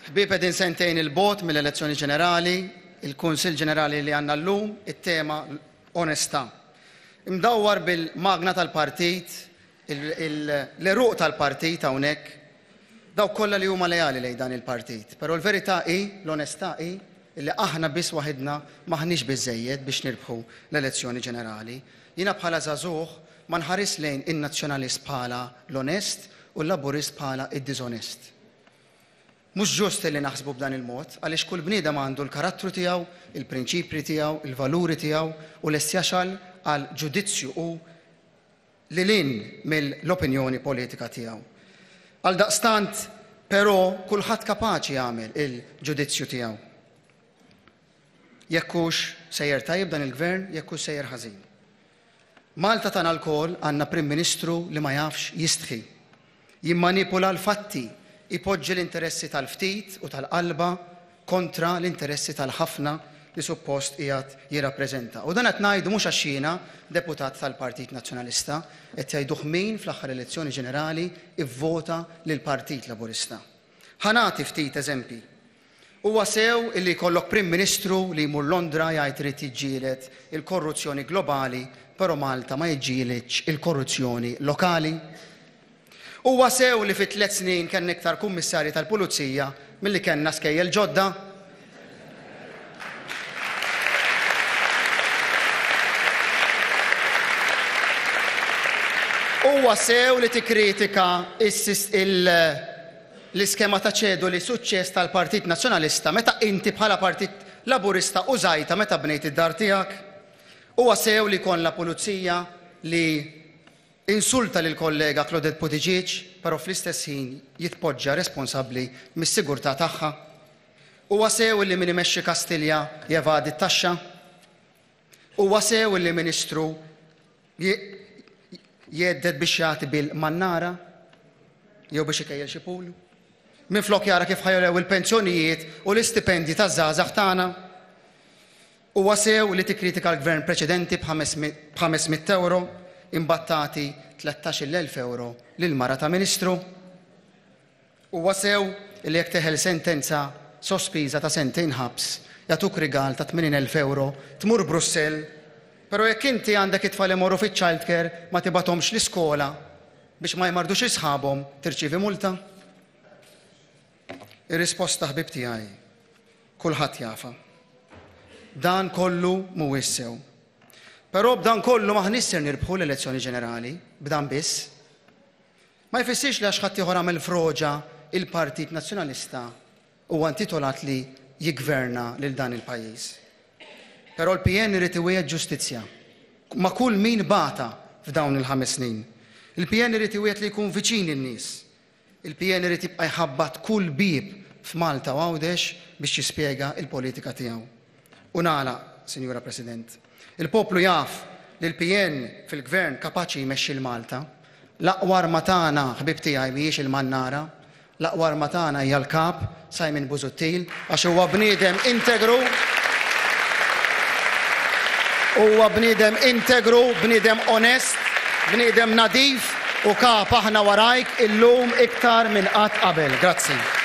Ħbieb qegħdin sentejn 'il bogħod mill-elezzjoni ġenerali, il-Kunsill Ġenerali li għandna llum, it-tema onestà. Imdawwar bil-magna tal-partit, l-għeruq tal-partit hawnhekk, dawk kollha li huma leali lejn dan il-partit. Però l-verità hi, l-onestà hi, li aħna biss waħidna m'aħniex biżżejjed biex nirbħu l-elezzjoni ġenerali. Jiena bħala żagħżugħ ma nħarisx lejn in-Nazzjonalist bħala l-onest u l-Laburist bħala d-diżonest. Mhux ġust li naħsbu b'dan il-mod, għaliex kull bniedem għandu l-karattru tiegħu, il-prinċipji tiegħu, il-valuri tiegħu u lest jasal għal ġudizzju hu lil hinn mill-opinjoni politika tiegħu. Għaldaqstant, però, kulħadd kapaċi jagħmel il-ġudizzju tiegħu. Jekk hux sejjer tajjeb dan il-Gvern, jekk hux sejjer ħażin. Malta tagħna lkoll għandna Prim Ministru li ma jafx jistħi. Jimmanipula l-fatti, ipoġġi l-interessi tal-ftit u tal-qalba kontra l-interessi tal-ħafna li suppost qiegħed jirrappreżenta. U dan qed ngħidu mhux għax jiena deputat tal-Partit Nazzjonalista, qed jgħiduh min fl-aħħar elezzjoni ġenerali vvota lill-Partit Laburista. Ħa nagħti ftit eżempji. Huwa sew illi jkollok Prim Ministru li jmur Londra jgħid irid jiġġieled il-korruzzjoni globali però Malta ma jiġġielidx il-korruzzjoni lokali? Huwa sew li fi tlett snin kellna iktar kummissarji tal-pulizija milli kellna skejjel ġodda? Huwa sew li tikkritika l-iskema ta' ċedoli suċċess tal-Partit Nazzjonalista meta inti bħala Partit Laburista użajtha meta bnejt id-dar tiegħek? Huwa sew li jkollna pulizija li insulta lill-kollega Claudette Buttigieg però fl-istess ħin jitpoġġa responsabbli mis-sigurtà tagħha? Huwa sew li min imexxi Kastilja jevadi t-taxxa? Huwa sew li Ministru jgħedded biex jagħti bil-mannara jew biex ikejjel xi pool? Minflok jara kif ħa jogħlew il-pensjonijiet u l-istipendji taż-żgħażagħ tagħna? Huwa sew li tikkritika l-Gvern preċedenti b'ħames mitt ewro imbagħad tagħti 13-il elf ewro lil mara ta' Ministru? Huwa sew li jekk teħel sentenza sospiża ta' sentejn ħabs jagħtuk rigal ta' 80,000 ewro tmur Brussell, però jekk inti għandek it-tfal imorru fiċ-child care ma tibgħathomx l-iskola biex ma jmardux 'il sħabhom tirċievi multa? Ir-risposta ħbieb tiegħi kulħadd jafha. Dan kollu mhuwiex sew. Però b'dan kollu m'aħniex ser nirbħu l-elezzjoni ġenerali, b'dan biss. Ma jfissirx li għax ħaddieħor għamel froġa il-Partit Nazzjonalista huwa intitolat li jiggverna lil dan il-pajjiż. Però l-PN irid iwiegħed ġustizzja ma' kull min bata f'dawn il-ħames snin. Il-PN irid iwiegħed li jkun viċin in-nies. Il-PN irid jibqa' jħabbat kull bieb f'Malta u Għawdex biex jispjega l-politika tiegħu. U nagħlaq, Sinjura President. Il-poplu jaf li l-PN fil-Gvern kapaċi jmexxi 'l Malta. L-aqwa arma tagħna, ħbieb tiegħi, mhijiex il-mannara. L-aqwa arma tagħna hija l-Kap, Simon Busuttil, għax huwa bniedem integru, huwa bniedem integru, bniedem onest, bniedem nadif u Kap aħna warajk illum iktar minn qatt qabel. Grazzi.